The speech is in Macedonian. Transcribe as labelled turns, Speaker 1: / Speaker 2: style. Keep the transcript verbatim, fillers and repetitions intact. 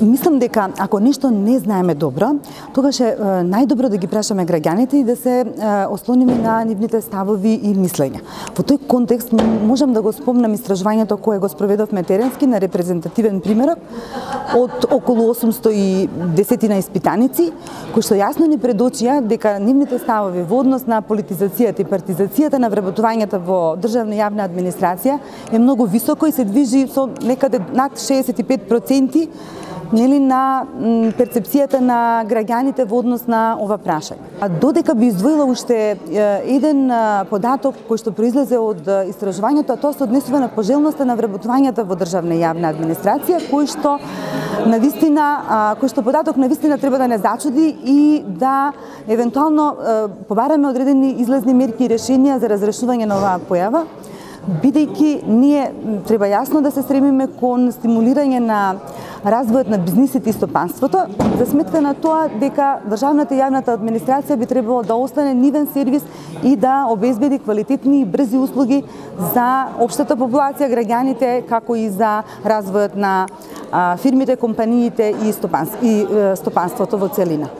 Speaker 1: Мислам дека ако нешто не знаеме добро, тогаш е најдобро да ги прашаме граѓаните и да се ослониме на нивните ставови и мислења. Во тој контекст можам да го спомнам истражувањето кое го спроведовме теренски на репрезентативен примерок од околу осумсто и десет испитаници, кои што јасно ни предочија дека нивните ставови во однос на политизацијата и партизацијата на вработувањето во државна и јавна администрација е многу високо и се движи со некаде над шеесет и пет проценти нели на перцепцијата на граѓаните во однос на ова прашање. А додека би издвоила уште еден податок кој што произлезе од истражувањето, тоа се однесува на пожелноста на вработувањето во државна и јавна администрација, кој што навистина кој што податок навистина треба да не зачуди и да евентуално побараме одредени излезни мерки и решенија за разрешување на оваа појава, бидејќи ние треба јасно да се стремиме кон стимулирање на развојот на бизнисите и стопанството, за сметка на тоа дека државната и јавната администрација би требало да остане нивен сервис и да обезбеди квалитетни и брзи услуги за општата популација, граѓаните, како и за развојот на фирмите, компаниите и стопанството во целина.